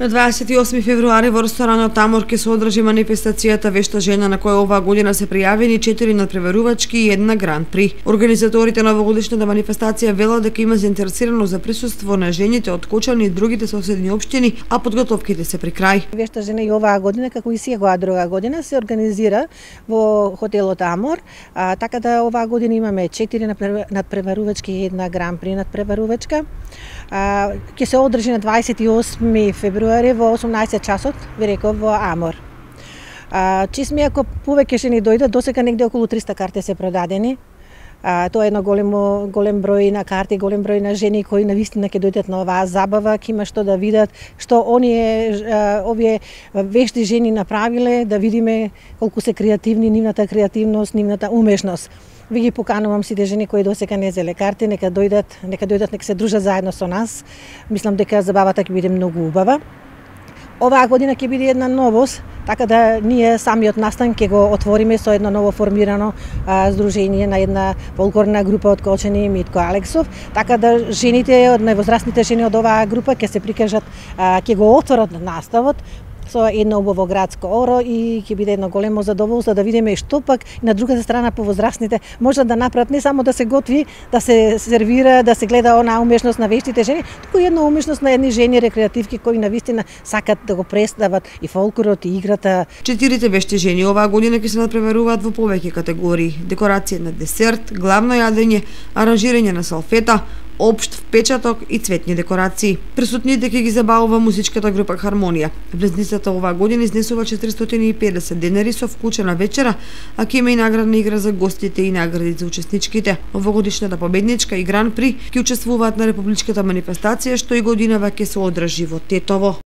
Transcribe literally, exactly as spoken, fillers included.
На дваесет и осми февруари во ресторанот Амор ќе се одржи манифестацијата Вешта жена, на која оваа година се пријавени четири надпреварувачки и една гран при. Организаторите на овогодишната манифестација велат дека има заинтересираност за присуство на жените од Кочани и другите соседни општини, а подготовките се при крај. Вешта жена и оваа година, како и секоја друга година, се организира во хотелот Амор, а, така да оваа година имаме четири надпреварувачки и една гран при надпреварувачка. А, ќе се одржи на дваесет и осми февруари во осумнаесет часот, ви реков, во Амор. А, чисми ако повеќе жени дојдат, досега негде околу триста карти се продадени. А, тоа е едно големо, голем број на карти, голем број на жени кои навистина ќе дојдат на оваа забава, ќе има што да видат, што оние а, овие вешти жени направиле, да видиме колку се креативни, нивната креативност, нивната умешност. Ви ги поканувам сите жени кои досега не зеле карти, нека дојдат, нека дојдат, нека се дружат заедно со нас. Мислам дека забавата ќе биде многу убава. Оваа година ќе биде една новост, така да ние самиот настан ќе го отвориме со едно ново формирано а, здружение на една фолклорна група од Кочани, Митко Алексов, така да жените, од највозрастните жени од оваа група ќе се прикажат, а, ќе го отворат наставот со едно убаво градско оро и ќе биде едно големо задоволство да видиме што пак на другата страна повозрастните можат да направат, не само да се готви, да се сервира, да се гледа онаа умешност на вештите жени, туку и една умешност на едни жени рекреативки кои навистина сакат да го представат и фолклорот и играта. Четирите вешти жени оваа година ќе се надпреваруваат во повеќе категории: декорација на десерт, главно јадење, аранжирање на салфета, општ впечаток и цветни декорации. Присутните ќе ги забавува музичката група Хармонија. Влезницата оваа година изнесува четиристотини и педесет денари со вклучена вечера, а ќе има и наградна игра за гостите и награди за учесничките. Овогодишната победничка и гран при ќе учествуваат на републичката манифестација, што и годинава ќе се одржи во Тетово.